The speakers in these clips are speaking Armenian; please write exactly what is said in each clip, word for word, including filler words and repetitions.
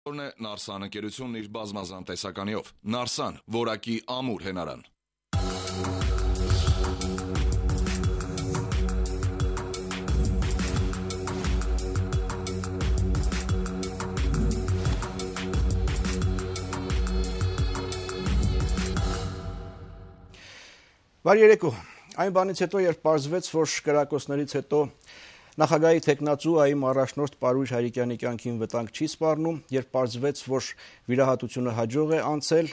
Որն է Նարսան ընկերությունն իր բազմազան տեսականիով։ Նարսան, որակի ամուր հենարան։ Բարի երեկո։ Այն բանից հետո, երբ պարզվեց, որ կրակոցներից հետո նախագահի թեկնածու ԱԻՄ առաջնորդ Պարույր Հայրիկյանի կյանքին վտանգ չի սպառնում, երբ պարզվեց, որ վիրահատությունը հաջող է անցել,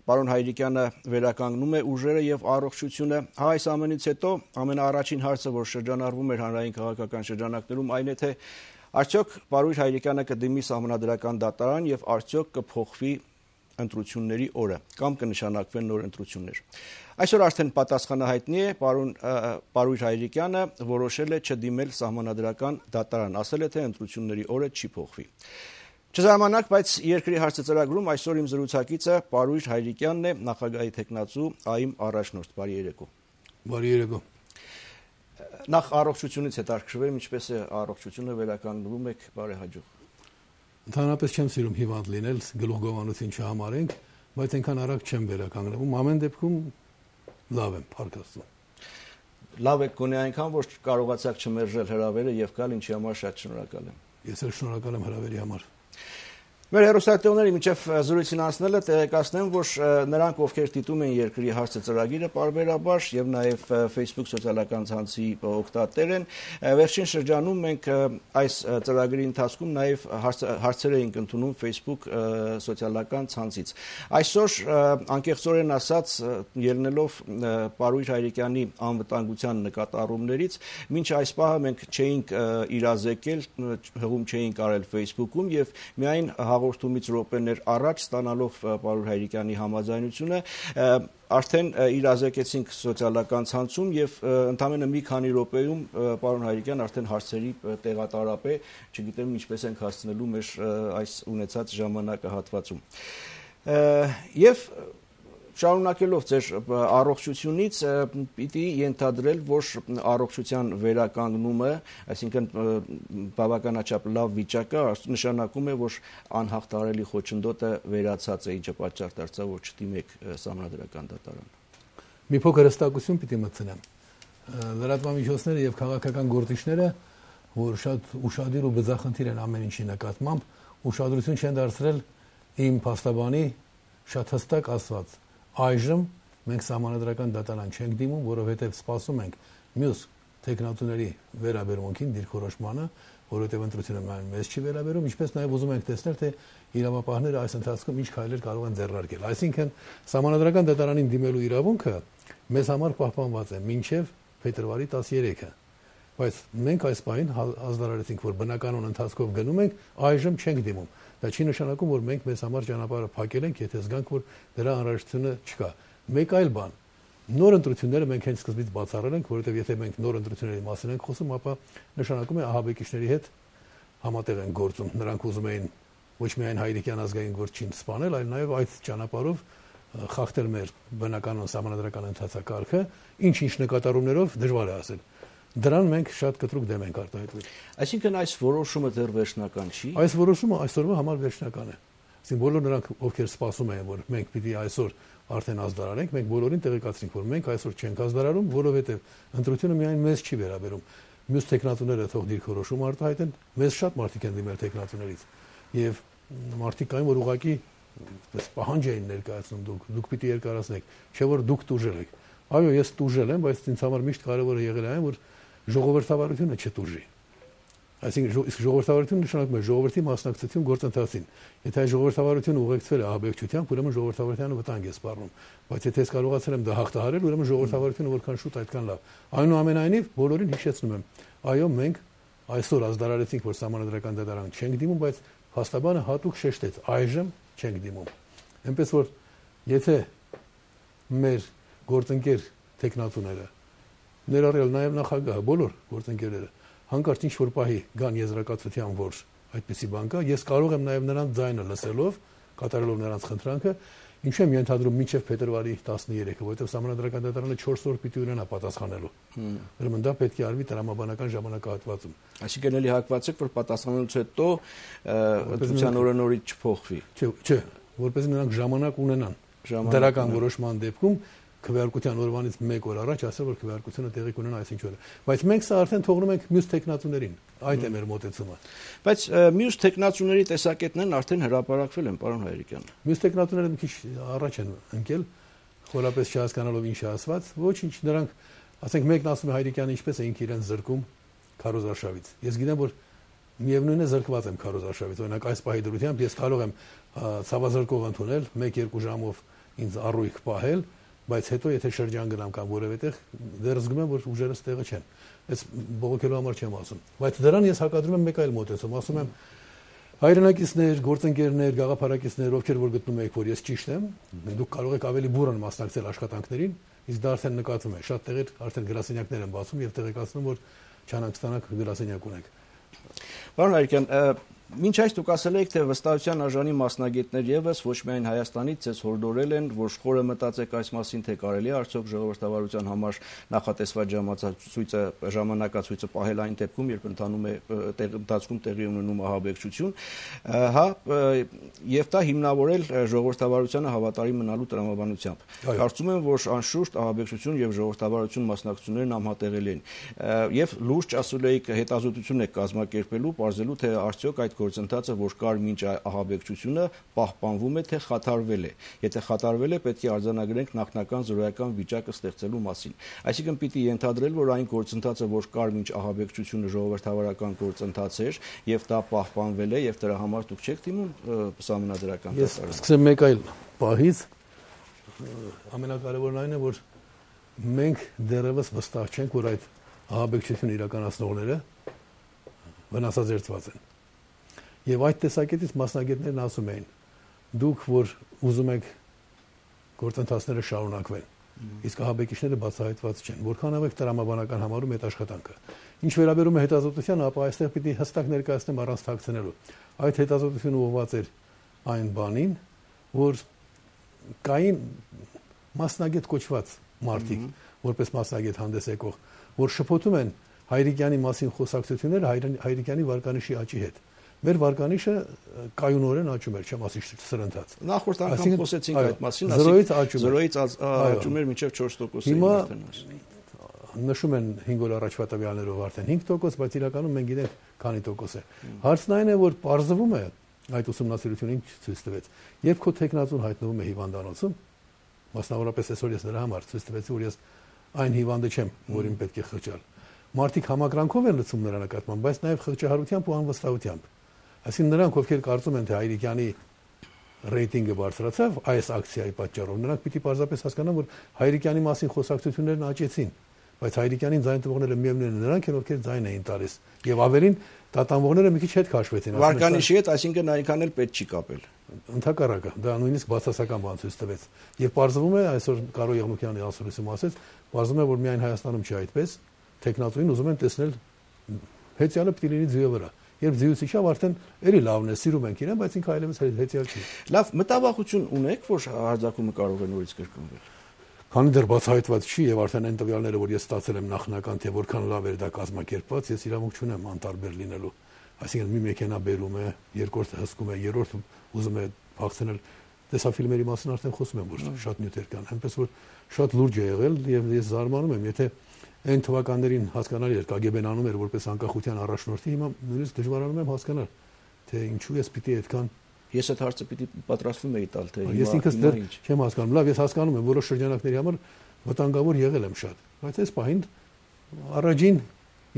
պարոն Հայրիկյանը վերականգնում է ուժերը եւ առողջությունը, հա այս ամենից հետո ամենաառաջին հարցը, որ շրջանառվում էր հանրային քաղաքական շրջանակներում, այն է թե արդյոք Պարույր Հայրիկյանը կդիմի սահմանադրական դատարան եւ արդյոք կփոխվի ընտրությունների օրը կամ կնշանակվեն նոր ընտրություններ։ Այսօր արդեն պատասխանը հայտնի է, պարոն Պարույր Հայրիկյանը որոշել է չդիմել սահմանադրական դատարան, ասել է թե ընտրությունների օրը չի փոխվի։ Չզամանակ, բայց երկրի հարցը ծրագրում այսօր իմ զրուցակիցը Պարույր Հայրիկյանն է, նախագահի թեկնածու ԱԻՄ առաջնորդ։ Բարի երեկո։ Բարի երեկո։ Նախ առողջությունից հետաքրքրվեմ, ինչպես է առողջությունը վերականգնվում եք բարեհաջող։ Ընդհանրապես չեմ սիրում հիվանդ լինել, գլուխգովանություն չհամարենք, բայց այնքան արագ չեմ վերականգնվում, ամեն դեպքում լավ եմ, փառք Աստծո։ Լավ եք գոնե այնքան, որ կարողացաք չմերժել հրավերը եւ գալ, ինչի համար շատ շնորհակալ եմ։ Ես էլ շնորհակալ եմ հրավերի համար։ Մեր հեռուստատիտողների միջև զրույցին անցնելը տեղեկացնեմ, որ նրանք, ովքեր դիտում են երկրի հարցը ծրագիրը պարբերաբար եւ նաեւ Facebook սոցիալական ցանցի օգտատեր են, վերջին շրջանում մենք այս ծրագրի ընթացքում նաեւ հարցեր էինք ընդունում Facebook սոցիալական ցանցից։ Այսօր անկեղծորեն ասած, ելնելով Պարույր Հայրիկյանի անվտանգության նկատառումներից, մինչ այս պահը մենք չէինք իրազեկել, հղում չէինք արել Facebook-ում եւ միայն հաղորդումից րոպեներ առաջ ստանալով Պարույր Հայրիկյանի համաձայնությունը արդեն իրազեկեցինք սոցիալական ցանցում եւ ընդամենը մի քանի րոպեում պարոն Հայրիկյան արդեն հարցերի տեղատարապ է, չգիտեմ ինչպես ենք հասցնելու մեր այս ունեցած ժամանակահատվածում։ Եվ շարունակելով ձեր առողջությունից պիտի ենթադրել, որ առողջության վերականգնումը, այսինքն բավականաչափ լավ վիճակը, նշանակում է, որ անհաղթահարելի խոչընդոտը վերացած է, ինչը պատճառ դարձավ, որ չդիմեք սահմանադրական դատարան։ Մի փոքր հստակություն պիտի մտցնեմ։ Լրատվամիջոցները եւ քաղաքական գործիչները, որ շատ ուշադիր ու բծախնդիր են ամեն ինչի նկատմամբ, ուշադրություն չեն դարձրել իմ փաստաբանի շատ հստակ ասված. Այժմ մենք սահմանադրական դատարան չենք դիմում, որովհետև սպասում ենք մյուս թեկնածուների վերաբերմունքին, դիրքորոշմանը, որովհետև ընտրությունը մեզ չի վերաբերում, ինչպես նաև ուզում ենք տեսնել, թե իրավապահները այս ընթացքում ինչ քայլեր կարող են ձեռնարկել։ Այսինքն սահմանադրական դատարանին դիմելու իրավունքը մեզ համար պահպանված է մինչև փետրվարի տասներեքը, բայց մենք այս պահին ազդարարեցինք, որ բնականon ընթացքով գնում ենք, այժմ չենք դիմում։ Դա չի նշանակում, որ մենք մեզ համար ճանապարհը փակել ենք, եթե զգանք, որ դրա անհրաժեշտությունը չկա։ Մեկ այլ բան, նոր ընտրությունները մենք հենց սկզբից բացառել ենք, որովհետև եթե մենք նոր ընտրությունների մասին ենք խոսում, ապա նշանակում է ահաբեկիչների հետ համատեղ են գործում։ Նրանք ուզում էին ոչ միայն Հայրիկյան ազգային գործչին սպանել, այլ նաև այդ ճանապարհով խախտել մեր բնականon սահմանադրական ընթացակարգը, ինչ-ինչ նկատառումներով դժվար է ասել։ Դրան մենք շատ կտրուկ դեմ ենք արտահայտվել։ Այսինքն այս որոշումը դեռ վերջնական չի։ Այս որոշումը այսօրվա համար վերջնական է։ Այսինքն բոլոր նրանք, ովքեր սպասում են, որ մենք պիտի այսօր արդեն ազդարարենք, մենք բոլորին տեղեկացրինք, որ մենք այսօր չենք ազդարարում, որովհետև ընտրությունը միայն մեզ չի վերաբերում։ Մյուս տեխնատուները թող դիրքորոշում արտահայտեն, մեզ շատ մարդիկ են դիմել տեխնատուներից։ Եվ մարդիկ կային, որ ուղղակի այդպես պահանջ էին ներկայացնում դուք, դուք պիտի երկարացնեք, չէ որ դուք տուժել եք։ Այո, ես տուժել եմ, բայց ինձ համար միշտ կարևորը եղել է այն, որ ժողովրդավարությունը չտուժի։ Այսինքն իսկ ժողովրդավարությունը նշանակում է ժողովրդի մասնակցություն գործընթացին։ Եթե այս ժողովրդավարությունը ուղեկցվել է ահաբեկչությամբ, ուրեմն ժողովրդավարությանը վտանգ է սպառնում։ Բայց եթե ես կարողացել եմ դա հաղթահարել, ուրեմն ժողովրդավարությունը որքան շուտ այդքան լավ։ Այնուամենայնիվ բոլորին հիշեցնում եմ, այո, մենք այսօր ազդարարեցինք, որ սահմանադրական դատարան չենք դիմում, բայց փաստաբանը հատուկ շեշտեց, այժմ չենք դիմում։ Էնպես որ եթե մեր գործընկեր տեխնատուները ներառյալ նաև նախագահը, բոլոր գործընկերները հանկարծ ինչ-որ պահի գան եզրակացության, որ այդպիսի բան կա, ես կարող եմ նաև նրանց ձայնը լսելով, կատարելով նրանց խնդրանքը, Ինչու եմ ենթադրում մինչև փետրվարի տասներեքը, որովհետև Սահմանադրական դատարանը չորս օր պիտի ունենա պատասխանելու։ Ուրեմն դա պետք է արվի տրամաբանական ժամանակահատվածում։ Այսինքն էլի հակված եք, որ պատասխանելուց հետո ընտրության օրը նորից չփոխվի։ Չէ, չէ, որպես նրանք ժամանակ ունենան դրական որոշման դեպքում քվեարկության օրվանից մեկ օր առաջ ասել, որ քվեարկությունը տեղի կունենա այսինչ օրը։ Բայց մենք սա արդեն թողնում ենք մյուս տեխնացուներին։ Այդ է մեր մոտեցումը։ Բայց մյուս տեխնացուների տեսակետներն արդեն հրապարակվել են, պարոն Հայրիկյան։ Մյուս տեխնացուները մի քիչ առաջ են ընկել, խորապես չհասկանալով ինչ է ասված, ոչինչ, նրանք, ասենք, մեկն ասում է Հայրիկյանը ինչպես է ինքը իրեն զրկում քարոզարշավից։ Ես գիտեմ, որ միևնույնն է զրկված եմ քարոզարշավից, օրինակ այս պահի դրությամբ ես կարող եմ ցավազրկող ընդունել, մեկ-երկու ժամով ինձ առույգ պահել, բայց հետո եթե շրջան գնամ կամ որևէ տեղ դեռ զգում եմ, որ ուժերս տեղը չեն։ Այս բողոքելու համար չեմ ասում, բայց դրան ես հակադրում եմ մեկ այլ մոտեցում, ասում եմ հայրենակիցներ, գործընկերներ, գաղափարակիցներ, ովքեր որ գտնում եք, որ ես ճիշտ եմ, դուք կարող եք ավելի բուրըն մասնակցել աշխատանքներին, իսկ դա արդեն նկատվում է։ Շատ տեղեր արդեն գրասենյակներ են բացում եւ տեղեկացնում, որ չանցնանք գրասենյակ ունեք։ Պարոն Հայրիկյան, մինչ այս դուք ասել եք, թե վստահության արժանի մասնագետներ եւս ոչ միայն Հայաստանից ցես հորդորել են, որ խորը մտածեք այս մասին, թե կարելի է արդյոք ժողովրդավարության համար նախատեսված ժամացույցը ժամանակացույցը պահել այն դեպքում, երբ ընթանում է ընթացքում տեղի ունենում ահաբեկչություն, հա, եւ դա հիմնավորել ժողովրդավարությանը հավատարիմ մնալու տրամաբանությամբ։ Կարծում եմ, որ անշուշտ ահաբեկչություն եւ ժողովրդավարություն մասնակցություններն անհատեղելի են։ Եվ լուրջ ասել եք հետազոտություն եք կազմակերպելու, ողջելու թե արդյոք այդ գործընթացը, որ կար մինչ ահաբեկչությունը, պահպանվում է, թե խաթարվել է։ Եթե խաթարվել է, պետք է արձանագրենք նախնական զրոյական վիճակը ստեղծելու մասին։ Այսինքն պիտի ենթադրել, որ այն գործընթացը, որ կար մինչ ահաբեկչությունը, ժողովրդավարական գործընթաց էր, եւ դա պահպանվել է, եւ դրա համար դուք չեք դիմում Սահմանադրական դատարանը։ Ես սկսեմ մեկ այլ պահից, ամենակարևորն այն է, որ մենք դեռևս վստահ չենք, որ այդ ահաբեկչություն իրականացնողները վնասազերծված են։ Եվ այդ տեսակետից մասնագետներն ասում էին, դուք որ ուզում եք գործընթացները շարունակվեն, իսկ ահաբեկիչները բացահայտված չեն, որքանով եք տրամաբանական համարում այդ աշխատանքը։ Ինչ վերաբերում է հետազոտությանը, ապա այստեղ պիտի հստակ ներկայացնեմ առանց թաքցնելու։ Այդ հետազոտությունը ուղղված էր այն բանին, որ կային մասնագետ կոչված մարդիկ, որպես մասնագետ հանդես եկող, որ շփոթում են Հայրիկյանի մասին խոսակցությունները Հայրիկյանի վարկանիշի աճի հետ։ Մեր վարկանիշը կայունորեն աճում էր, չեմ ասի սրընթաց։ Նախորդ անգամ խոսեցինք այդ մասին, զրոյից աճում զրոյից աճում էր մինչև չորս տոկոս։ Հիմա նշում են հինգ օր առաջվա տվյալներով արդեն հինգ տոկոս, բայց իրականում մենք գիտենք քանի տոկոս է։ Հարցն այն է, որ պարզվում է այդ ուսումնասիրությունը ինչ ցույց տվեց։ Երբ քո տեխնացուն հայտնվում է հիվանդանոցում, մասնավորապես այսօր ես նրա համար ցույց տվեցի, որ ես այն հիվանդը չեմ, որին պետք է խղճալ։ Մարդիկ համակրանքով են լցում նրա նկատմամբ, բայց նաև խղճահարությամբ ու անվստահությամբ։ Այսինքն նրանք, ովքեր կարծում են, թե Հայրիկյանի ռեյտինգը բարձրացավ այս ակցիայի պատճառով, նրանք պիտի պարզապես հասկանան, որ Հայրիկյանի մասին խոսակցություններն աճեցին, բայց Հայրիկյանին ձայն տվողները միևնույնն են նրանք են, ովքեր ձայն էին տալիս։ Եվ ավելին տատանվողները մի քիչ հետ քաշվեցին։ Վարկանիշի հետ, այսինքն այնքան էլ պետք չի կապել։ Ընդհակառակը, դա նույնիսկ բացասական բան ցույց տվեց։ Եվ պարզվում է, այսօր Կարո Եղնուկյանի ասուլիսում ասեց, պարզվում է, որ միայն Հայաստանում չի այդպես, տեխնատուին ուզում են տեսնել հեծյալը պիտի լինի ձյուի վրա։ Երբ ձյուից իջավ, արդեն էլի լավն է, սիրում ենք իրեն, բայց ինքը այլևս հեծյալ չի։ Լավ, մտավախություն ունեք, որ հարձակումը կարող է նորից կրկնվել։ Քանի դեռ բացահայտված չի եւ արդեն այն տվյալները, որ ես ստացել եմ նախնական, թե որքան լավ էր դա կազմակերպված, ես իրավունք չունեմ անտարբեր լինելու։ Այսինքն մի մեքենա բերում է, երկրորդը հսկում է, երրորդը ուզում է փախցնել։ Տեսաֆիլմերի մասին արդեն խոսում եմ, որ շատ նյութեր կան, այնպես որ շատ լուրջ է եղել եւ ես զարմանում եմ, եթե այն թվականներին հասկանալի էր կագեբեն անում էր որպես անկախության առաջնորդի, հիմա նույնիսկ դժվարանում եմ հասկանալ, թե ինչու ես պիտի այդքան ես այդ հարցը պիտի պատրաստվում էի տալ, թե ես ինքս դեռ չեմ հասկանում։ Լավ, ես հասկանում եմ, որոշ շրջանակների համար վտանգավոր եղել եմ շատ, բայց այս պահին առաջին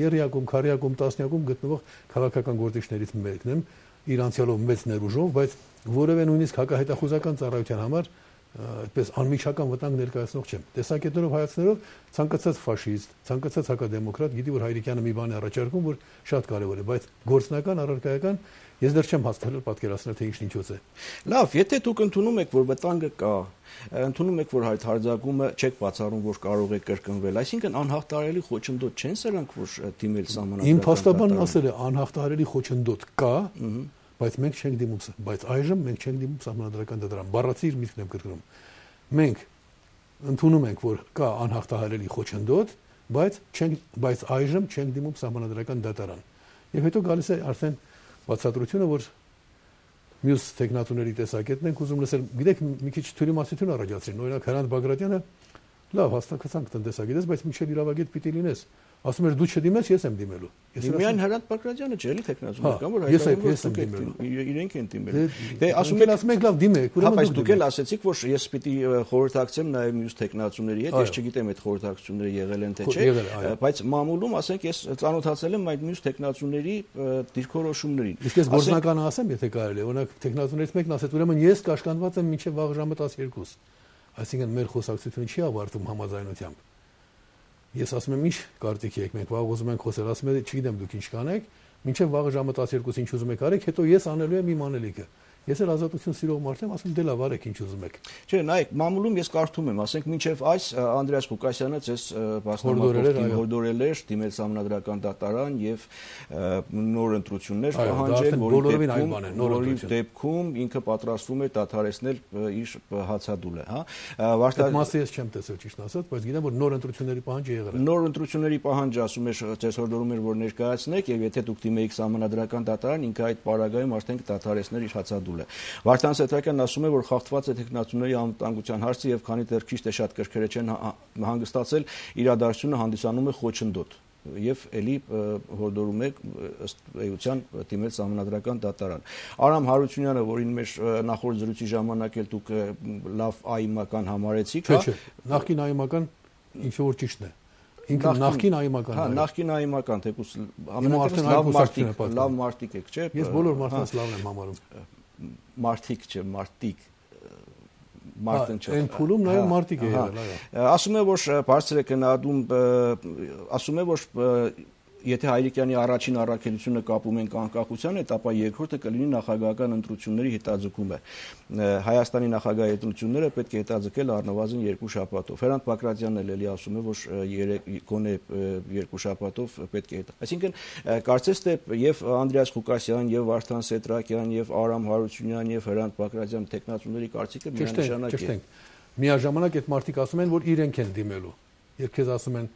երրյակում, քառյակում, տասնյակում գտնվող քաղաքական գործիչներից մեկն եմ, իր անցյալով մեծ ներուժով, բայց որևէ նույնիսկ հակահետախուզական ծառայության համար այդպես անմիջական վտանգ ներկայացնող չեմ։ Տեսակետներով հայացներով ցանկացած ֆաշիստ, ցանկացած հակադեմոկրատ գիտի, որ Հայրիկյանը մի բան է առաջարկում, որ շատ կարևոր է, բայց գործնական, առարկայական ես դեռ չեմ հասցնել պատկերացնել, թե ինչն ինչոց է։ Լավ, եթե դուք ընդունում եք, որ վտանգը կա, ընդունում եք, որ այդ հարձակումը չեք բացառում, որ կարող է կրկնվել, այսինքն անհաղթահարելի խոչընդոտ չեն սրանք, որ դիմել Սահմանադրական դատարանին։ Իմ փաստաբանն ասել է, անհաղթահարելի խոչընդոտ կա, բայց մենք չենք դիմում, բայց այժմ մենք չենք դիմում սահմանադրական դատարան։ Բառացի իր միտքն եմ կրկնում։ Մենք ընդունում ենք, որ կա անհաղթահարելի խոչընդոտ, բայց չենք, բայց այժմ չենք դիմում սահմանադրական դատարան։ Եվ հետո գալիս է արդեն բացատրությունը, որ մյուս տեխնատուների տեսակետն ենք ուզում լսել։ Գիտեք, մի քիչ թյուրիմասություն առաջացրին։ Օրինակ Հրանտ Բագրատյանը լավ հաստատացանք տնտեսագետես, բայց միջև իրավագետ պիտի լինես։ Ասում էր դու չդիմես, ես եմ դիմելու։ Միայն Հրանտ Բագրատյանը չէ, էլի տեխնատուներ կան, որ հայտարարում են իրենք են դիմելու։ Դե ասում են, ասում եք լավ դիմեք, ուրեմն դուք էլ ասեցիք, որ ես պիտի խորհրդակցեմ նաև մյուս տեխնատուների հետ, ես չգիտեմ այդ խորհրդակցությունները եղել են թե չէ, բայց մամուլում, ասենք, ես ծանոթացել եմ այդ մյուս տեխնատուների դիրքորոշումներին։ Իսկ ես գործնականը ասեմ, եթե կարելի է, օրինակ տեխնատուներից մեկն ասեց, ուրեմն ես կաշկանդված եմ մինչև վաղ ժամը տասներկու։ Այսինքն մեր խոսակցությունը չի ավարտվում համաձայնությամբ։ Ես ասում եմ, ինչ կարծիքի եք, մենք վաղ ուզում ենք խոսել, ասում եմ, չգիտեմ դուք ինչ կանեք, մինչև վաղը ժամը տասներկու ինչ ուզում եք արեք, հետո ես անելու եմ իմ անելիքը։ Ես էլ ազատություն սիրող մարդ եմ, ասում դե լավ արեք ինչ ուզում եք։ Չէ, նայեք, մամուլում ես կարդում եմ, ասենք մինչև այս Անդրեաս Ղուկասյանը ցես բացնամակով հորդորել էր դիմել սահմանադրական դատարան եւ նոր ընտրություններ պահանջել, որի դեպքում ինքը պատրաստվում է դադարեցնել իր հացադուլը, հա։ Այդ մասը ես չեմ տեսել ճիշտ ասած, բայց գիտեմ որ նոր ընտրությունների պահանջը եղել է։ Նոր ընտրությունների պահանջը ասում է ցես հորդորում էր որ ներկայացնեք եւ եթե դուք դիմեիք սահմանադրական դատարան, ինքը այդ պարագայում արդեն կդադարեցներ իր հացադուլը։ Վարդան Սեթրակյանն ասում է, որ խախտված է տեխնատուների անվտանգության հարցը եւ քանի դեռ քիչ թե շատ կրկերը չեն հանգստացել, իրադարձությունը հանդիսանում է խոչընդոտ եւ էլի հորդորում է ըստ էության դիմել սահմանադրական դատարան։ Արամ Հարությունյանը, որին մեր նախորդ զրույցի ժամանակ էլ դուք լավ այմական համարեցիք, հա։ Չէ, նախկին այմական ինչ որ ճիշտն է։ Ինքը նախկին այմական։ Հա, նախկին այմական, թեկուզ ամենատեղս լավ մարդիկ, լավ մարդիկ եք, չէ՞։ Ես բոլոր մարդկանց լավն եմ համարում։ Մարդիկ չէ, մարդիկ Մարտին չէ։ Այն փուլում նաև մարդիկ է եղել, այո։ Ասում է, որ բարձր է գնահատում, ասում է, որ եթե Հայրիկյանի առաջին առաքելությունը կապում ենք անկախության հետ, ապա երկրորդը կլինի նախագահական ընտրությունների հետաձգումը։ Հայաստանի նախագահի ընտրությունները պետք է հետաձգել առնվազն երկու շաբաթով։ Հրանտ Բագրատյանն էլ էլի ասում է, որ գոնե երկու շաբաթով պետք է հետա։ Այսինքն կարծես թե եւ Անդրեաս Ղուկասյան, եւ Վարդան Սեթրակյան, եւ Արամ Հարությունյան, եւ Հրանտ Բագրատյան տեխնատուների կարծիքը միանշանակ է։ Միաժամանակ այդ մարդիկ ասում են, որ իրենք են դիմելու։ Երբ քեզ ասում են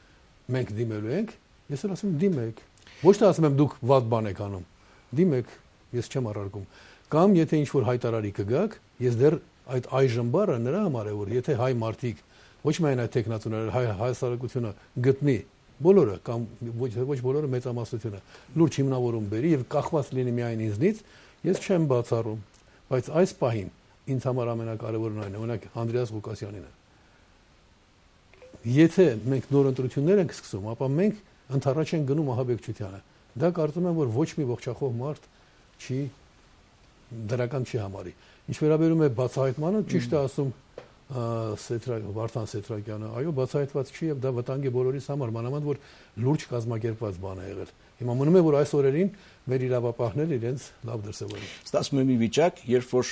մենք դիմելու ենք, ես էլ ասում եմ դիմեք։ Ոչ թե ասում եմ դուք վատ բան եք անում։ Դիմեք, ես չեմ առարկում։ Կամ եթե ինչ-որ հայտարարի կգաք, ես դեռ այդ այժմ բառը նրա համար է, որ եթե հայ մարդիկ, ոչ միայն այդ տեխնատուները, հայ հասարակությունը գտնի բոլորը կամ ոչ ոչ բոլորը մեծամասնությունը լուրջ հիմնավորում բերի եւ կախված լինի միայն ինձնից, ես չեմ բացառում, բայց այս պահին ինձ համար ամենակարևորն այն է, օրինակ Անդրեաս Ղուկասյանին է։ Եթե մենք նոր ընտրություններ ենք սկսում, ապա մենք ընդառաջ են գնում ահաբեկչությանը։ Դա կարծում եմ, որ ոչ մի ողջախոհ մարդ չի դրական չի համարի։ Ինչ վերաբերում է բացահայտմանը, ճիշտ է ասում Վարդան Սեթրակյանը, այո, բացահայտված չի եւ դա վտանգ է բոլորիս համար, մանավանդ որ լուրջ կազմակերպված բան է եղել։ Հիմա մնում է որ այս օրերին մեր իրավապահները իրենց լավ դրսևորեն։ Ստացվում է մի վիճակ, երբ որ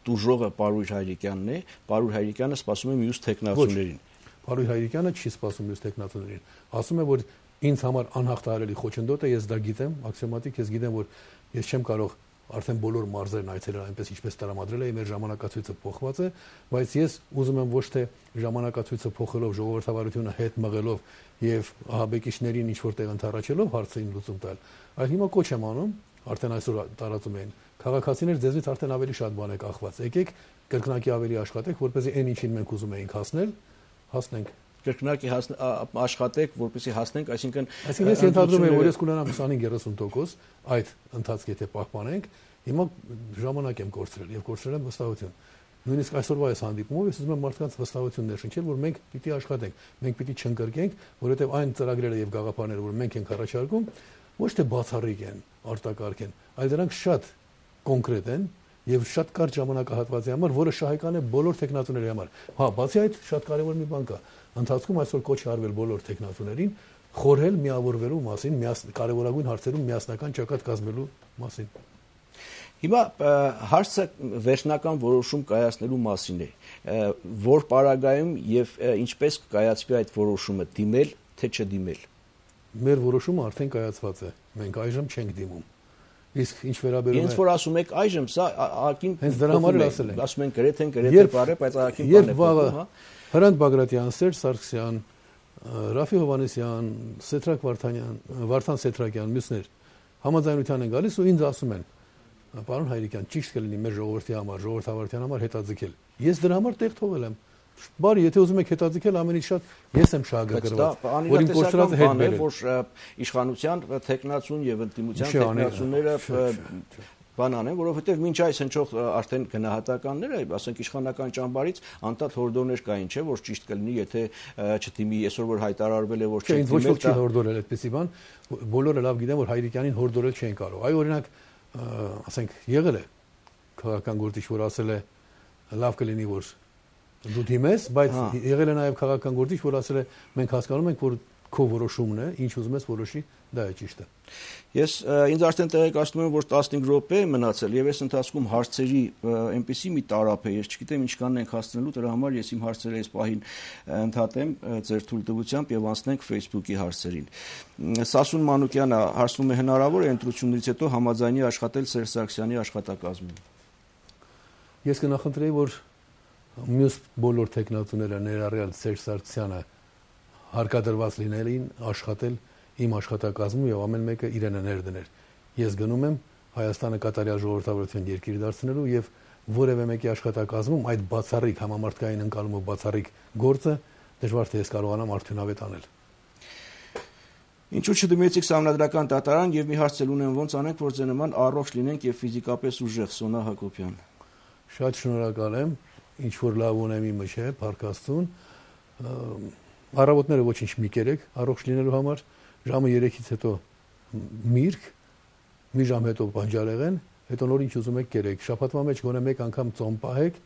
դուժողը Պարույր Հայրիկյանն է, Պարույր Հայրիկյանը սպասում է մյուս տեխնատուներին։ Պարույր Հայրիկյանը չի սպասում մյուս տեխնատուներին։ Ասում է որ ինձ համար անհաղթահարելի խոչընդոտ է, ես դա գիտեմ, աքսիոմատիկ, ես գիտեմ որ ես չեմ կարող արդեն բոլոր մարզերն այցելել այնպես ինչպես տրամադրել է, մեր ժամանակացույցը փոխված է, բայց ես ուզում եմ ոչ թե ժամանակացույցը փոխելով, ժողովրդավարությունը հետ մղելով եւ ահաբեկիչներին ինչ որտեղ ընդառաջելով հարցին լուծում տալ, այլ հիմա կոչ եմ անում, արդեն այսօր տարածում են քաղաքացիներ ձեզնից արդեն ավելի շատ բան է կախված, եկեք կրկնակի ավելի աշխատեք, որպեսզի այն ինչին մենք ուզում էինք հասնել, հասնենք կրկնակի աշխատեք, որպեսզի հասնենք, այսինքն այսինքն ես ենթադրում եմ, որ ես կունենամ հիսուն երեսուն տոկոս այդ ընթացքի եթե պահպանենք, հիմա ժամանակ եմ կորցրել եւ կորցրել եմ վստահություն։ Նույնիսկ այսօրվա այս հանդիպումով ես ուզում եմ մարդկանց վստահություն ներշնչել, որ մենք պիտի աշխատենք, մենք պիտի չընկրկենք, որովհետեւ այն ծրագրերը եւ գաղափարները, որ մենք ենք առաջարկում, ոչ թե բացառիկ են, արտակարգ են, այլ դրանք շատ կոնկրետ են եւ շատ կարճ ժամանակահատվածի համար, որը շահեկան է բոլոր տեխնատուների համար։ Հա, բացի այդ շատ կարեւոր մի բան կա։ Ընթացքում այսօր կոչ է արվել բոլոր տեխնատուներին խորհել միավորվելու մասին, կարևորագույն հարցերում միասնական ճակատ կազմելու մասին։ Հիմա հարցը վերջնական որոշում կայացնելու մասին է, որ պարագայում եւ ինչպես կկայացվի այդ որոշումը, դիմել թե չդիմել։ Մեր որոշումը արդեն կայացված է։ Մենք այժմ չենք դիմում։ Իսկ ինչ վերաբերում է Ինձ որ ասում եք այժմ սա ակին հենց դրա համար էլ ասել են։ Ասում են գրեթե գրեթե բարե, բայց ակին բան է։ Երբ վաղը Հրանտ Բագրատյան, Սերժ Սարգսյան, Ռաֆի Հովհաննիսյան, Սեթրակ Վարդանյան, Վարդան Սեթրակյան, մյուսներ համաձայնության են գալիս ու ինձ ասում են. «Պարոն Հայրիկյան, ճիշտ կլինի մեր ժողովրդի համար, ժողովրդավարության համար հետաձգել»։ Ես դրա համար տեղ թողել եմ։ Բարի, եթե ուզում եք հետաձգել, ամենից շատ ես եմ շահագրգռված, որ իմ կորցրածը հետ բերել։ Որ իշխանության թեկնածուն եւ ընդդիմության թեկնածունները բան անեն, որովհետեւ մինչ այս հնչող արդեն գնահատականները, ասենք իշխանական ճամբարից անդադ հորդորներ կային, չէ, որ ճիշտ կլինի, եթե չթիմի այսօր որ հայտարարվել է, որ չէ, ոչ ոք չի հորդորել այդպեսի բան, բոլորը լավ գիտեն, որ Հայրիկյանին հորդորել չեն կարող։ Այ օրինակ, ասենք, եղել է քաղաքական գործիչ, որ ասել է լավ կլինի, որ դու դիմես, բայց եղել է նաև քաղաքական գործիչ, որ ասել է մենք հասկանում ենք, որ քո որոշումն է, ինչ ուզում ես որոշի, դա է ճիշտը։ Ես ինձ արդեն տեղեկացնում եմ, որ տասնհինգ րոպե է մնացել եւ այս ընթացքում հարցերի այնպեսի մի տարափ է, ես չգիտեմ ինչքանն ենք հասցնելու, դրա համար ես իմ հարցերը այս պահին ընդհատեմ ձեր թույլտվությամբ եւ անցնենք Facebook-ի հարցերին։ Սասուն Մանուկյանը հարցնում է հնարավոր է ընտրություններից հետո համաձայնի աշխատել Սերժ Սարգսյանի աշխատակազմին։ Ես կնախընտրեի, որ մյուս բոլոր տեխնատուները ներառյալ Սերժ Սարգսյանը հարկադրված լինելին աշխատել իմ աշխատակազմում եւ ամեն մեկը իրենը ներդներ։ Ես գնում եմ Հայաստանը կատարյալ ժողովրդավարության երկիր դարձնելու եւ որևէ մեկի աշխատակազմում այդ բացառիկ համամարտկային ընկալումով բացառիկ գործը դժվար թե ես կարողանամ արդյունավետ անել։ Ինչու չդիմեցիք Սահմանադրական դատարան եւ մի հարց էլ ունեմ, ոնց անենք, որ ձեր նման առողջ լինենք եւ ֆիզիկապես ուժեղ, Սոնա Հակոբյան։ Շատ շնորհակալ եմ, ինչ որ լավ ունեմ իմը չէ, Փարքաստուն։ Առավոտները ոչինչ մի կերեք առողջ լինելու համար, ժամը երեքից հետո միրգ, մի ժամ հետո բանջարեղեն, հետո նոր ինչ ուզում եք կերեք, շաբաթվա մեջ գոնե մեկ անգամ ծոմ պահեք,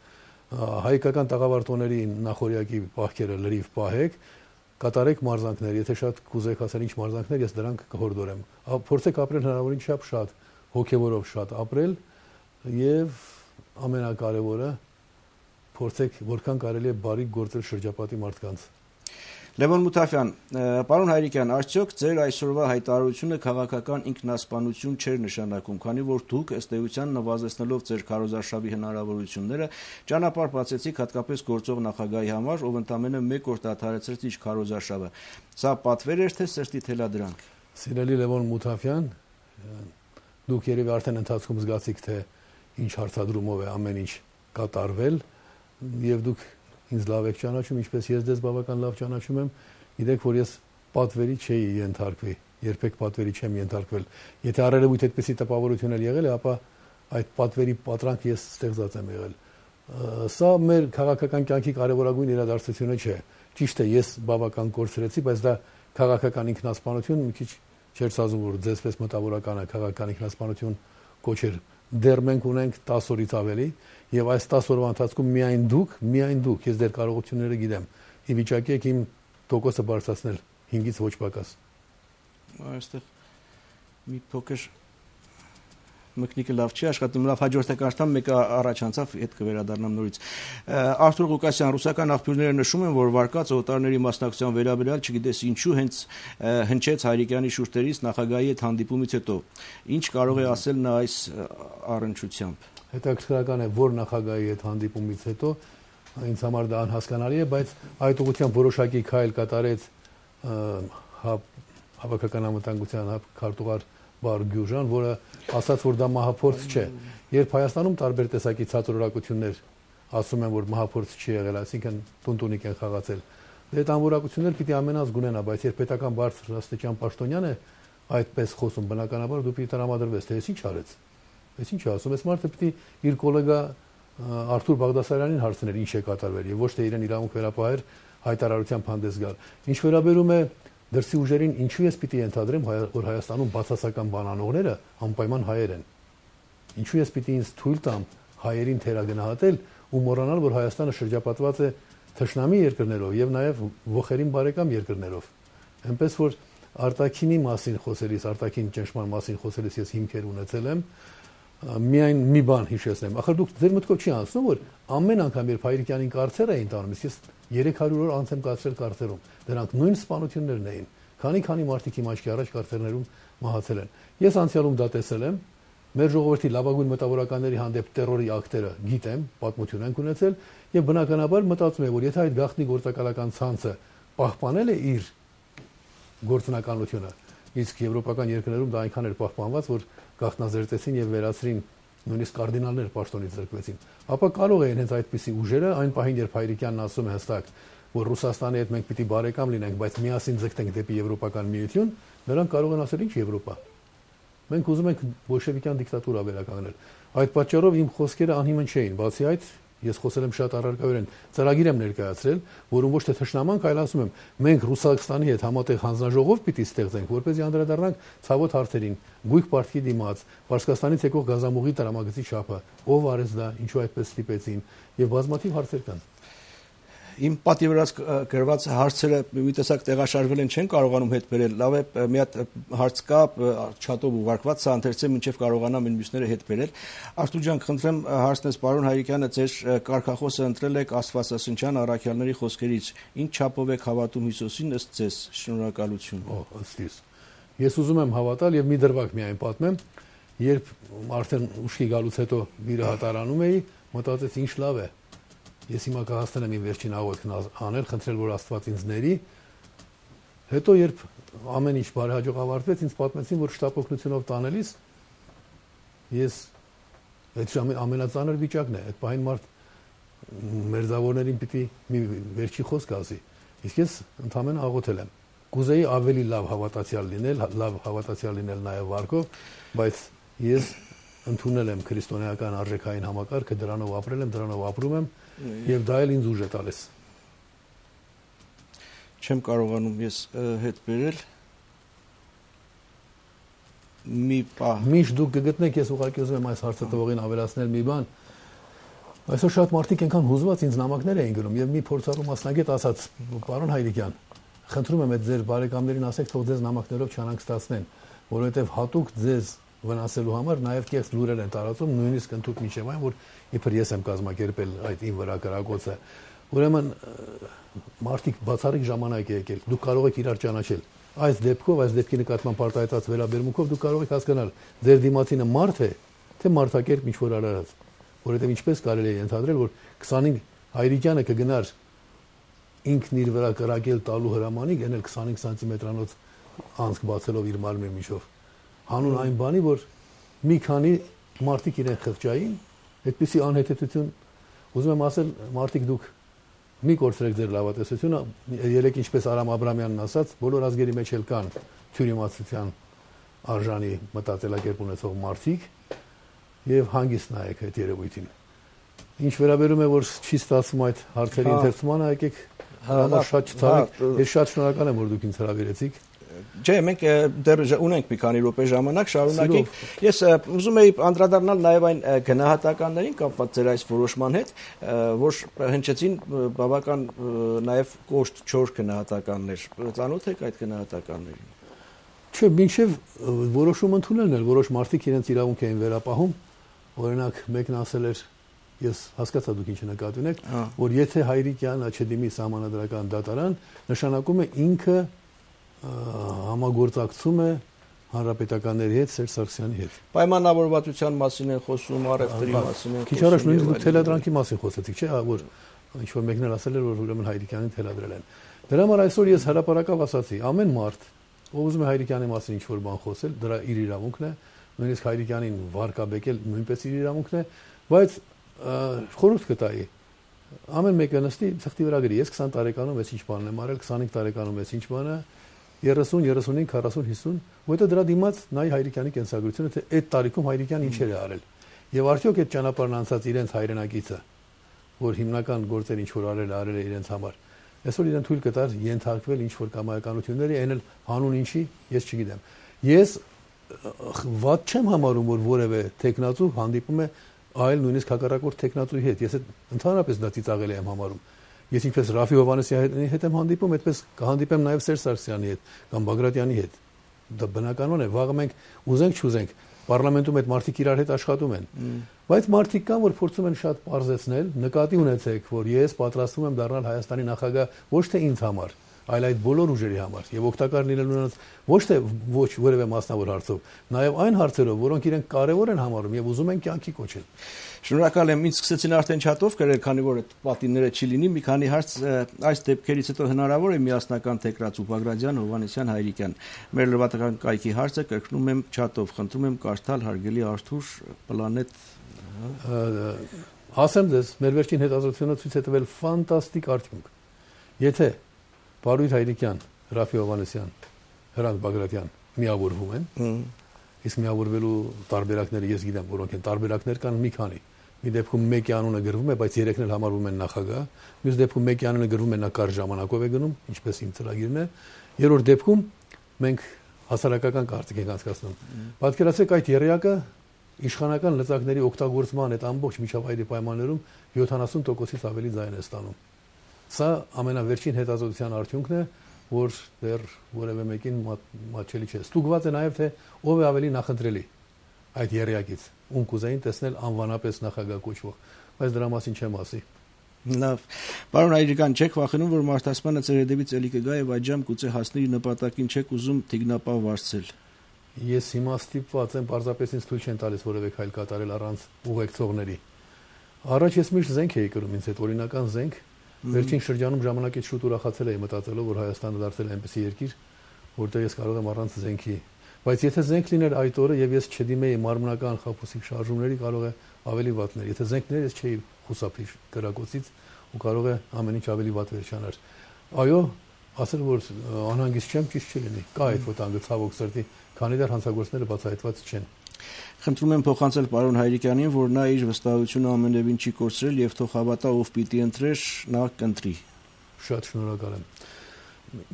հայկական տաղավարտոների նախորյակի պահքերը լրիվ պահեք, կատարեք մարզանքներ, եթե շատ կուզեք ասել ինչ մարզանքներ, ես դրանք կհորդորեմ։ Փորձեք ապրել հնարավորին չափ շատ, հոգևորով շատ ապրել եւ ամենակարևորը փորձեք որքան կարելի է բարի գործել շրջապատի մարդկանց։ Լևոն Մութաֆյան, պարոն Հայրիկյան, արդյոք ձեր այսօրվա հայտարարությունը քաղաքական ինքնասպանություն չէր նշանակում, քանի որ դուք ըստ էության նվազեցնելով ձեր քարոզարշավի հնարավորությունները ճանապարհ բացեցիք հատկապես գործող նախագահի համար, ով ընդամենը մեկ օր դադարեցրեց իր քարոզարշավը։ Սա պատվեր էր թե սրտի թելադրանք։ Սիրելի Լևոն Մութաֆյան, դուք երևի արդեն ընթացքում զգացիք, թե ինչ հարցադրումով է ամեն ինչ կատարվել եւ դուք ինձ լավ եք ճանաչում, ինչպես ես ձեզ բավական լավ ճանաչում եմ, գիտեք, որ ես պատվերի չէի ենթարկվի, երբեք պատվերի չեմ ենթարկվել։ Եթե առերևույթ այդպեսի տպավորություն էլ եղել է, ապա այդ պատվերի պատրանք ես ստեղծած եմ եղել։ Սա մեր քաղաքական կյանքի կարևորագույն իրադարձությունը չէ։ Ճիշտ է, ես բավական կորցրեցի, բայց դա քաղաքական ինքնասպանություն մի քիչ չէր սազում, որ ձեզպես մտավորականը քաղաքական ինքնասպանություն կոչեր։ Դեռ մենք ունենք տասը օրից ավելի եւ այս տասը օրվա ընթացքում միայն դուք, միայն դուք, ես դեր կարողությունները գիտեմ, ի վիճակի եք իմ տոկոսը բարձրացնել հինգից ոչ պակաս։ Այստեղ մի փոքր մկնիկը լավ չի աշխատում, լավ հաջորդը կարդամ, մեկը առաջ անցավ, հետ կվերադառնամ նորից։ Արթուր Ղուկասյան, ռուսական աղբյուրները նշում են, որ վարկած օտարների մասնակցության վերաբերյալ չգիտես ինչու հենց հնչեց Հայրիկյանի շուրթերից նախագահի հետ հանդիպումից հետո։ Ինչ կարող է ասել նա այս առնչությամբ։ Հետաքրքրական է, որ նախագահի հետ հանդիպումից հետո ինձ համար դա անհասկանալի է, բայց այդ ուղղությամբ որոշակի քայլ կատարեց հավաքական անվտանգության քարտուղար Բար Գյուժան, որը ասաց, որ դա մահափորձ չէ։ Երբ Հայաստանում տարբեր տեսակի ցածրորակություններ ասում են, որ մահափորձ չի եղել, այսինքն տունտունիկ են խաղացել, այդ անորակություններ պիտի ամենից գունենա, բայց երբ պետական բարձր աստիճան պաշտոնյան է այդպես խոսում, բնականաբար դու պիտի տրամադրվես, թե ես ինչ արեց։ Ես ինչ ասում, ես մարդը պիտի իր գոլեգա Արթուր Բաղդասարյանին հարցներ ինչ է կատարվել եւ ոչ թե իրեն իրավունք վերապահեր հայտարարությամբ հանդես գալ։ Ինչ վերաբերում է դրսի ուժերին, ինչու ես պիտի ենթադրեմ, որ Հայաստանում բացասական բանանողները անպայման հայեր են։ Ինչու ես պիտի ինձ թույլ տամ հայերին թերագնահատել ու մոռանալ, որ Հայաստանը շրջապատված է թշնամի երկրներով եւ նաեւ ողերին բարեկամ երկրներով։ Այնպես որ արտաքինի մասին խոսելիս, արտաքին ճնշման մասին խոսելիս ես հիմքեր ունեցել եմ, միայն մի բան հիշեցնեմ։ Ախր դուք ձեր մտքով չի անցնում, որ ամեն անգամ երբ Հայրիկյանին կարծեր էին տանում, ես երեք հարյուր օր անց եմ կարծել կարծերում, դրանք նույն սպանություններն էին։ Քանի քանի մարդիկ իմ աչքի առաջ կարծերներում մահացել են։ Ես անցյալում դա տեսել եմ մեր ժողովրդի լավագույն մտավորականների հանդեպ տերորի ակտերը գիտեմ, պատմություն ենք ունեցել եւ բնականաբար մտածում եմ, որ եթե այդ գաղտնի գործակալական ցանցը պահպանել է իր գործունեությունները, իսկ եվրոպական երկրներում դա այնքան էր պահպանված, որ գաղտնազերծեցին եւ վերացրին նույնիսկ կարդինալներ պաշտոնից զրկվեցին, ապա կարող է հենց այդպիսի ուժերը այն պահին, երբ Հայրիկյանն ասում է հստակ, որ Ռուսաստանի հետ մենք պիտի բարեկամ լինենք, բայց միասին ձգտենք դեպի Եվրոպական միություն, նրանք կարող են ասել ինչ Եվրոպա։ Մենք ուզում ենք բոլշևիկյան դիկտատուրա վերականգնել։ Այդ պատճառով իմ խոսքերը անհիմն չէին, բացի այդ ես խոսել եմ շատ առարկայորեն, ծրագիր եմ ներկայացրել, որում ոչ թե թշնամանք, այլ ասում եմ, մենք Ռուսաստանի հետ համատեղ հանձնաժողով պիտի ստեղծենք, որպեսզի անդրադառնանք ցավոտ հարցերին, գույք պարտքի դիմաց, Պարսկաստանից եկող գազամուղի տրամագծի չափը, ով արեց դա, ինչու այդպես ստիպեցին, եւ բազմաթիվ հարցեր կան։ Իմ պատի վրա գրված հարցերը մի տեսակ տեղաշարժվել են, չեն կարողանում հետ բերել։ Լավ է, մի հատ հարց կա չաթով ուղարկված, սա ընթերցեմ, մինչև կարողանամ այն մյուսները հետ բերել։ Արթուր ջան, խնդրեմ հարցնես պարոն Հայրիկյանը, ձեր կարգախոսը ընտրել եք Աստվածաշնչյան առաքյալների խոսքերից։ Ինչ չափով եք հավատում Հիսուսին ըստ ձեզ։ Շնորհակալություն։ Օ, ըստ իս։ Ես ուզում եմ հավատալ եւ մի դրվագ միայն պատմեմ, երբ արդեն ուշքի գալուց հետո վիրը հատարանում էի, մտածեցի ինչ լավ է։ Ես հիմա կհասցնեմ իմ վերջին աղոթքն անել, խնդրել, որ Աստված ինձ ների։ Հետո երբ ամեն ինչ բարեհաջող ավարտվեց, ինձ պատմեցին, որ շտապօգնությունով տանելիս ես այդ ամենածանր վիճակն է, այդ պահին մարդ մերձավորներին պիտի մի վերջի խոսք ասի։ Իսկ ես ընդհանրապես աղոթել եմ։ Կուզեի ավելի լավ հավատացյալ լինել, լավ հավատացյալ լինել նաև վարկով, բայց ես ընդունել եմ քրիստոնեական արժեքային համակարգը, դրանով ապրել եմ, դրանով ապրում եմ եւ դա էլ ինձ ուժ է տալիս։ Չեմ կարողանում ես հետ բերել մի պահ։ Միշտ դուք կգտնեք, ես ուղղակի ուզում եմ այս հարցը տվողին ավելացնել մի բան։ Այսօր շատ մարդիկ այնքան հուզված ինձ նամակներ էին գրում եւ մի փորձառու մասնագետ ասաց, պարոն Հայրիկյան, խնդրում եմ այդ ձեր բարեկամներին ասեք, թող ձեզ նամակներով չանհանգստացնեն, որովհետեւ հատուկ ձեզ վնասելու համար նաև կեղծ լուրեր են տարածում, նույնիսկ ընդհանուր միջև այն, որ իբր ես եմ կազմակերպել այդ իմ վրա կրակոցը։ Ուրեմն մարդիկ բացառիկ ժամանակ է եկել, դուք կարող եք իրար ճանաչել։ Այս դեպքով, այս դեպքի նկատմամբ արտահայտած վերաբերմունքով դուք կարող եք հասկանալ, ձեր դիմացինը մարդ է, թե մարդակերպ ինչ-որ արարած։ Որովհետև ինչպես կարելի է ենթադրել, որ քսանհինգ Հայրիկյանը կգնար ինքն իր վրա կրակել տալու հրամանին, գնել քսանհինգ սանտիմետրանոց անցք բացելով իր մարմնի միջով։ Հանուն այն բանի, որ մի քանի մարդիկ իրեն խղճային, այդպիսի անհետեցություն, ուզում եմ ասել, մարդիկ դուք մի կորցրեք ձեր լավատեսությունը, երեք ինչպես Արամ Աբրամյանն ասաց, բոլոր ազգերի մեջ էլ կան թյուրիմացության արժանի մտածելակերպ ունեցող մարդիկ եւ հանգիստ նայեք այդ երևույթին։ Ինչ վերաբերում է, որ չի ստացվում այդ հարցերի ընթերցմանը, եկեք հրամար շատ չցավեք, ես շատ շնորհակալ եմ, որ դուք ինձ հրավիրեցիք։ Չէ, մենք դեռ ունենք մի քանի րոպե ժամանակ, շարունակենք։ Ես ուզում եի անդրադառնալ նաև այն գնահատականներին կապված ձեր այս որոշման հետ, որ հնչեցին բավական նաև կոշտ չոր գնահատականներ։ Ծանոթ եք այդ գնահատականներին։ Չէ, մինչև որոշում ընդունելն էլ որոշ մարդիկ իրենց իրավունք էին վերապահում, օրինակ մեկն ասել էր, ես հասկացա դուք ինչ նկատի ունեք, որ եթե Հայրիկյանը չդիմի սահմանադրական դատարան, նշանակում է ինքը համագործակցում է հանրապետականների հետ, Սերժ Սարգսյանի հետ։ Պայմանավորվածության մասին են խոսում, առևտրի մասին են խոսում։ Քիչ առաջ նույնիսկ դուք թելադրանքի մասին խոսեցիք, չէ՞, որ ինչ որ մեկն էլ ասել էր, որ ուրեմն Հայրիկյանին թելադրել են։ Դրա համար այսօր ես հրապարակավ ասացի, ամեն մարդ, ով ուզում է Հայրիկյանի մասին ինչ որ բան խոսել, դրա իր իրավունքն է, նույնիսկ Հայրիկյանին վարկաբեկել նույնպես իր իրավունքն է, բայց խորհուրդ կտայի ամեն մեկը նստի ցխտի վրա գրի, ես քսան տարեկանում ես ինչ բան եմ արել, քսանհինգ տարեկանում ես ինչ բան է, երեսուն, երեսունհինգ, քառասուն, հիսուն, որտեղ դրա դիմաց նայ Հայրիկյանի կենսագրությունը, թե այդ տարիքում Հայրիկյան ինչեր է արել։ Եվ արդյոք այդ ճանապարհն անցած իրենց հայրենակիցը, որ հիմնական գործեր ինչ որ արել, արել է իրենց համար, այսօր իրեն թույլ կտար ենթարկվել ինչ որ կամայականությունների, այն էլ հանուն ինչի, ես չգիտեմ։ Ես վատ չեմ համարում, որ որևէ տեխնացու հանդիպում է այլ նույնիսկ հակառակորդ տեխնացուի հետ։ Ես ընդհանրապես դա ծիծաղելի եմ համարում։ Ես ինչպես Ռաֆի Հովհաննեսյանի հետ եմ հանդիպում, այդպես կհանդիպեմ նաև Սերժ Սարգսյանի հետ կամ Բագրատյանի հետ։ Դա բնականon է, վաղը մենք ուզենք չուզենք, պարլամենտում այդ մարդիկ իրար հետ աշխատում են։ Բայց մարդիկ կան, որ փորձում են շատ պարզեցնել, նկատի ունեցեք, որ ես պատրաստվում եմ դառնալ Հայաստանի նախագահ ոչ թե ինձ համար, այլ այդ բոլոր ուժերի համար եւ օգտակար լինելու նրանց ոչ թե ոչ որևէ մասնավոր հարցով, նաեւ այն հարցերով, որոնք իրենք կարեւոր են համարում եւ ուզում են կյանքի կոչել։ Շնորհակալ եմ, ինձ սկսեցին արդեն չաթով գրել, քանի որ այդ պատինները չի լինի, մի քանի հարց այս դեպքերից հետո հնարավոր է միասնական թեկրած ու Բագրատյան, Հովհաննիսյան, Հայրիկյան։ Մեր լրատվական կայքի հարցը կրկնում եմ չաթով, խնդրում եմ կարդալ հարգելի Արթուր Պլանետ։ Ասեմ ձեզ, մեր վերջին հետազոտությունը ցույց է տվել ֆանտաստիկ արդյունք։ Եթե Բարույր Հայրիկյան, Ռաֆի Հովհաննիսյան, Հրանտ Բագրատյան միավորվում են, իսկ միավորվելու տարբերակները ես գիտեմ, որոնք են տարբերակներ կան մի քանի։ Մի դեպքում մեկի անունը գրվում է, բայց երեքն էլ համարվում են նախագահ, մյուս դեպքում մեկի անունը գրվում է նա կարճ ժամանակով է գնում, ինչպես իմ ծրագիրն է։ Երրորդ դեպքում մենք հասարակական կարծիք ենք անցկացնում։ Պատկերացրեք այդ երեակը իշխանական լծակների օգտագործման այդ ամբողջ միջավայրի պայմաններում յոթանասուն տոկոսից ավելի ձայն է ստանում։ Սա ամենավերջին հետազոտության արդյունքն է, որ դեռ որևէ մեկին մատչելի չէ։ Ստուգված է նաև թե ով է ավելի նախընտրելի այդ երեակից, ում կուզեին տեսնել անվանապես նախագահ կոչվող, բայց դրա մասին չեմ ասի։ Լավ, պարոն Հայրիկյան, չեք վախենում, որ մարդասպանը ձեր հետևից էլի կգա եւ այդ ժամ գուցե հասնի իր նպատակին, չեք ուզում թիկնապահ վարձել։ Ես հիմա ստիպված եմ, պարզապես ինձ թույլ չեն տալիս որևէ քայլ կատարել առանց ուղեկցողների։ Առաջ ես միշտ զենք էի կրում ինձ հետ, օրինական զենք։ Վերջին շրջանում ժամանակից շուտ ուրախացել էի մտածելով, որ Հայաստանը դարձել է այնպիսի երկիր, որտեղ ես կարող եմ առանց զենքի։ Բայց եթե զենք լիներ այդ օրը եւ ես չդիմեի մարմնական խաբուսիկ շարժումների, կարող է ավելի վատ լիներ։ Եթե զենք լիներ, ես չէի խուսափի կրակոցից ու կարող է ամեն ինչ ավելի վատ վերջանար։ Այո, ասել որ անհանգիստ չեմ, ճիշտ չլինի։ Կա այդ վտանգը ցավոք սրտի, քանի դեռ հանցագործները բացահայտված չեն։ Խնդրում եմ փոխանցել պարոն Հայրիկյանին, որ նա իր վստահությունը ամենևին չի կորցրել եւ թող հավատա, ով պիտի ընտրեր, նա կընտրի։ Շատ շնորհակալ եմ։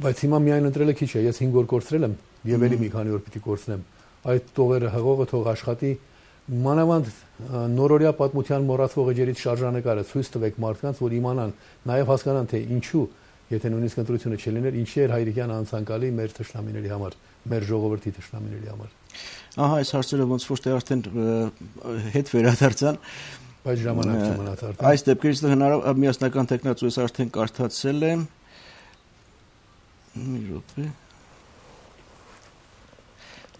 Բայց հիմա միայն ընտրելը քիչ է, ես հինգ օր կորցրել եմ եւ ելի մի քանի օր պիտի կորցնեմ։ Այդ տողերը հղողը թող աշխատի, մանավանդ նորորյա պատմության մոռացվող էջերից շարժանկարը ցույց տվեք մարդկանց, որ իմանան, նաեւ հասկանան, թե ինչու, եթե նույնիսկ ընտրությունը չլիներ, ինչի էր Հայրիկյանը անցանկալի մեր թշնամիների համար, մեր ժողովրդի թշնամիների համար։ Ահա այս հարցերը ոնց որ թե արդեն հետ վերադարձան, բայց ժամանակ չմնաց արդեն։ Այս դեպքերից հնարավոր միասնական տեխնացու ես արդեն կարդացել եմ։ Մի րոպե։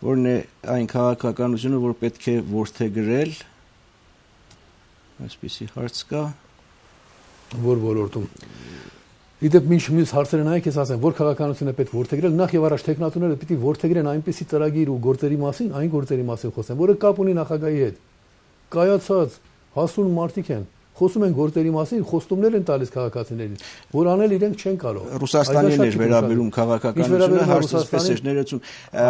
Որն է այն քաղաքականությունը, որ պետք է որդեգրել։ Այսպիսի հարց կա։ Որ ոլորտում։ Իդեպ ինչ մյուս հարցերը նայեք, ես ասեմ, որ քաղաքականություն է պետք որդեգրել, նախ եւ առաջ տեխնատուները պիտի որդեգրեն այնպիսի ծրագիր ու գործերի մասին, այն գործերի մասին խոսեն, որը կապ ունի նախագահի հետ։ Կայացած հասուն մարդիկ են, խոսում են գործերի մասին, խոստումներ են տալիս քաղաքացիներին, որ անել իրենք չեն կարող։ Ռուսաստանին էր վերաբերում քաղաքականությունը, հարցսպես էր ներեցում։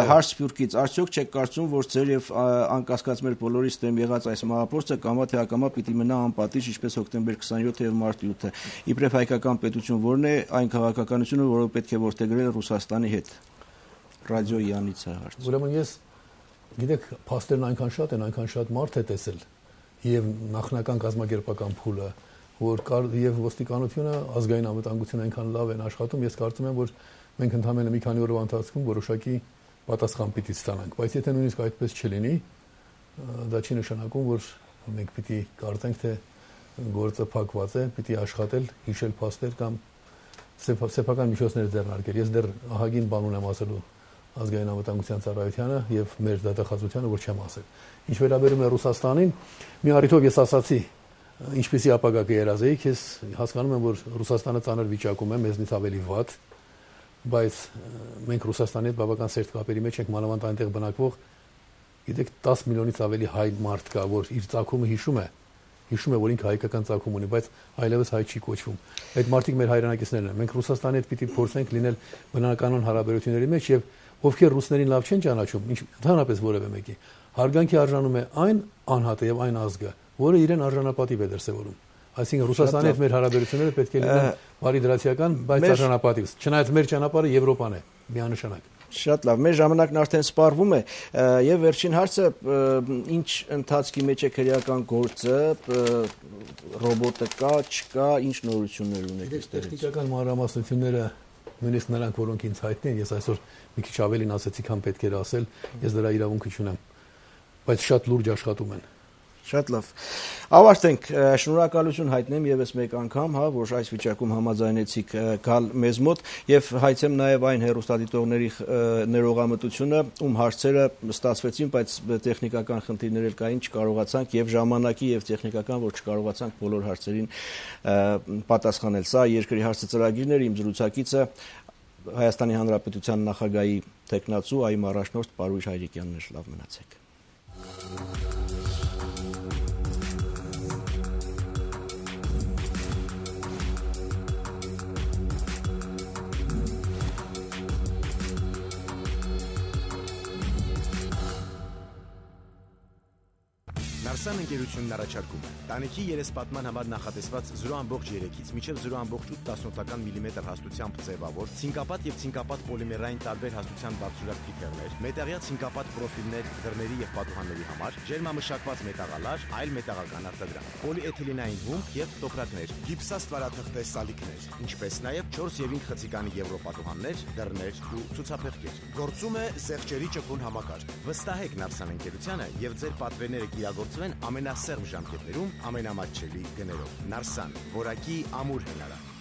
Հարց Սփյուռքից, արդյոք չեք կարծում, որ ձեր եւ անկասկած մեր բոլորից դեմ եղած այս մահապորցը կամա թե ակամա պիտի մնա անպատիժ, ինչպես հոկտեմբեր քսաներորդ եւ մարտի ութը։ Իբրև հայկական պետություն որն է այն քաղաքականությունը, որը պետք է որդեգրել Ռուսաստանի հետ։ Ռադիո Յանից է հարց։ Ուրեմն ես գիտեք, փաստերն այնքան շատ են, այնքան շատ մարդ է տեսել եւ նախնական կազմակերպական փուլը, որ կար եւ ոստիկանությունը, ազգային անվտանգությունը այնքան լավ են աշխատում, ես կարծում եմ, որ մենք ընդհանրապես մի քանի օրվա ընթացքում որոշակի պատասխան պիտի ստանանք, բայց եթե նույնիսկ այդպես չլինի, դա չի նշանակում, որ մենք պիտի կարծենք, թե գործը փակված է, պիտի աշխատել, հիշել փաստեր կամ սեփական միջոցներ ձեռնարկել։ Ես դեռ ահագին բան ունեմ ասելու ազգային անվտանգության ծառայությանը եւ մեր դատախազությանը, որ չեմ ասել։ Ինչ վերաբերում է Ռուսաստանին, մի առիթով ես ասացի, ինչպեսի ապագա կերազեի, ես հասկանում եմ, որ Ռուսաստանը ծանր վիճակում է, մեզնից ավելի վատ, բայց մենք Ռուսաստանի հետ բավական սերտ կապերի մեջ ենք, մանավանդ այնտեղ բնակվող, գիտեք, տասը միլիոնից ավելի հայ մարդ կա, որ իր ծագումը հիշում է, հիշում է, որ ինքը հայկական ծագում ունի, բայց այլևս հայ չի կոչվում։ Այդ մարդիկ մեր հայրենակիցներն են։ Մենք Ռուսաստանի հետ պիտի փորձենք լինել բնականon հարաբերությունների մեջ եւ ովքեր ռուսներին լավ չեն ճանաչում, ընդհանրապես որևէ մեկի, հարգանքի արժանում է այն անհատը եւ այն ազգը, որը իրեն արժանապատիվ է դրսեւորում։ Այսինքն Ռուսաստանի հետ մեր հարաբերությունները պետք է լինեն բարի դրացիական, բայց արժանապատիվ։ Չնայած մեր ճանապարհը Եվրոպան է, միանշանակ։ Շատ լավ, մեր ժամանակն արդեն սպառվում է եւ վերջին հարցը, ինչ ընթացքի մեջ է քրեական գործը, ռոբոտը կա, չկա, ինչ նորություններ ունեք այստեղ։ Տեխնիկական մանրամասնությունները նույնիսկ նրանք, որոնք ինձ հայտնի են, ես այսօր մի քիչ ավելին ասեցի, քան պետք էր ասել, ես դրա իրավունքը չունեմ, բայց շատ լուրջ աշխատում են։ Շատ լավ։ Ավարտենք, շնորհակալություն հայտնեմ եւս մեկ անգամ, հա, որ այս վիճակում համաձայնեցիք գալ մեզ մոտ եւ հայցեմ նաեւ այն հեռուստադիտողների ներողամտությունը, ում հարցերը ստացվեցին, բայց տեխնիկական խնդիրներ էլ կային, չկարողացանք եւ ժամանակի եւ տեխնիկական, որ չկարողացանք բոլոր հարցերին պատասխանել։ Սա երկրի հարցը ծրագիրն էր, իմ զրուցակիցը Հայաստանի Հանրապետության նախագահի տեխնացու այմ առաջնորդ Պարույր Հայրիկյանն էր, լավ մնացեք։ Նարսան ընկերությունն առաջարկում է տանիքի երեսպատման համար նախատեսված զրո ամբողջ երեքից մինչև զրո ամբողջ ութ տասնորդական միլիմետր հաստությամբ ձևավոր, ցինկապատ եւ ցինկապատ պոլիմերային տարբեր հաստության բարձրակ փիթերներ, մետաղյա ցինկապատ պրոֆիլներ դռների եւ պատուհանների համար, ջերմամշակված մետաղալար, այլ մետաղական արտադրանք, պոլիէթիլենային հումք եւ տոպրակներ, գիպսաստվարաթղթե սալիկներ, ինչպես նաեւ չորս եւ ինը խցիկանի եվրոպատուհաններ, դռներ ու ցուցափեղկեր։ Գործում է զեղչերի ճկուն համակարգ։ Վստահեք Նարսան ընկերությանը եւ ձեր պատվերները կիրագործվեն ամենասերմ ժամկետներում ամենամատչելի գներով։ Նարսան, որակի ամուր հնարակ։